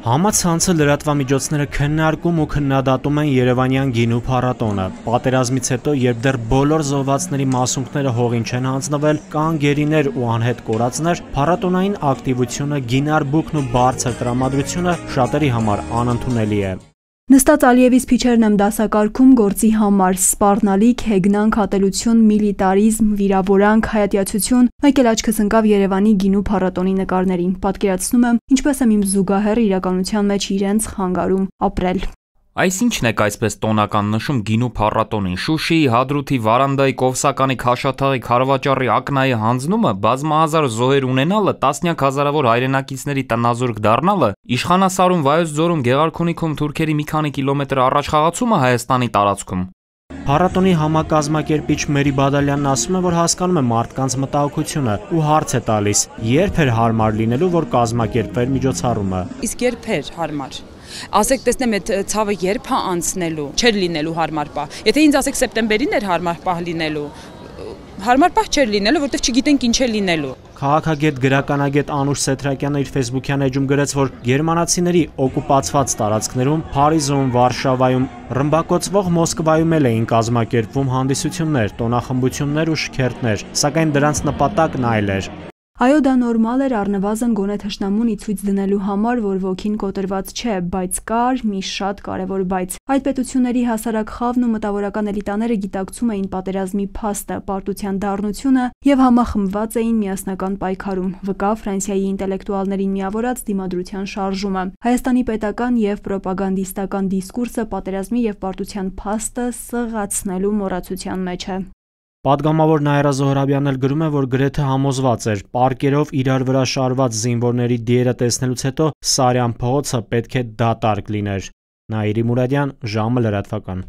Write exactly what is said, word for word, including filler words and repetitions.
Համացանցը լրատվամիջոցները քննարկում ու քննադատում են Երևանյան գինու փառատոնը։ Պատերազմից հետո, երբ դեռ բոլոր զոհվածների մասունքները հողին չեն հանձնվել, կան գերիներ ու անհետ կորածներ, փառատոնային ակտիվությունը, գինարբուքն ու բարձր տրամադրությունը շատերի համար անընդունելի է։ Նստած Ալիևի սփիչերն եմ դասակարգում գործի համար՝ սպառնալիք, հեգնանք, ատելություն, միլիտարիզմ, վիրավորանք, հայատյացություն, մեկ էլ աչքս ընկավ Երևանի գինու փառատոնի նկարներին, պատկերացնում եմ, ինչպես եմ իմ զուգահեռը իրականության մեջ իրենց խանգարում ապրել։ Այս ինչն եք այսպես տոնական նշում գինու փառատոնին, Շուշիի, Հադրութի, Վարանդայի, Կովսականի, Քաշաթաղի, Քարվաճառի, Ակնայի հանձնումը, բազմահազար զոհեր ունենալը, տասնյակ հազարավոր հայրենակիցների տնազուրկ դառնալը, Իշխանասարում, Վայոց ձորում, Գեղարքունիքում թուրքերի մի քանի կիլոմետր առաջ խաղացումը Հայաստանի տարածքում։ Փառատոնի համակազմակերպիչ Մերի Բադալյանն ասում է, որ հասկանում է մարդկանց մտահոգությունը ու հարց է տալիս՝ երբ էր հարմար լինելու, որ կազմակերպվեր միջոցառումը։ Իսկ երբ էր հարմար։ Ասեք, տեսնեմ, այդ ցավը երբ է անցնելու, չէր լինելու հարմար պահ։ Եթե ինձ ասեք սեպտեմբերին էր հարմար պահ լինելու, հարմար պահ չէր լինելու, որտեղ չգիտենք ինչ է լինելու։ Քաղաքագետ գրականագետ Անուշ Սեթրակյանը իր ֆեյսբուքյան էջում գրեց, որ գերմանացիների օկուպացված տարածքներում, Փարիզում, Վարշավայում, ռմբակոծվող Մոսկվայում էլ էին կազմակերպվում հանդիսություններ, տոնախմբություններ ու շքերթներ, սակայն դրանց նպատակն այլ էր։ Այո, դա նորմալ էր առնվազն գոնե թշնամուն ի ցույց դնելու համար, որ ոգին կոտրված չէ, բայց կար մի շատ կարևոր բայց։ Այդ պետությունների հասարակ խավն ու մտավորական էլիտաները գիտակցում էին պատերազմի փաստը, պարտության դառնությունը եւ համախմբված էին միասնական պայքարում։ Վկա Ֆրանսիայի ինտելեկտուալներին միավորած դիմադրության շարժումը։ Հայաստանի պետական եւ պրոպագանդիստական դիսկուրսը պատերազմի եւ պարտության փաստը սղացնելու մոռացության մեջ է։ Պատգամավոր Նաիրա Զոհրաբյանն էլ գրում է, որ գրեթե համոզված էր, պարկերով իրար վրա շարված զինվորների դիերը տեսնելուց հետո Սարյան փողոցը պետք է դատարկ լիներ։ Նաիրի Մուրադյան, ժամը լրատվական։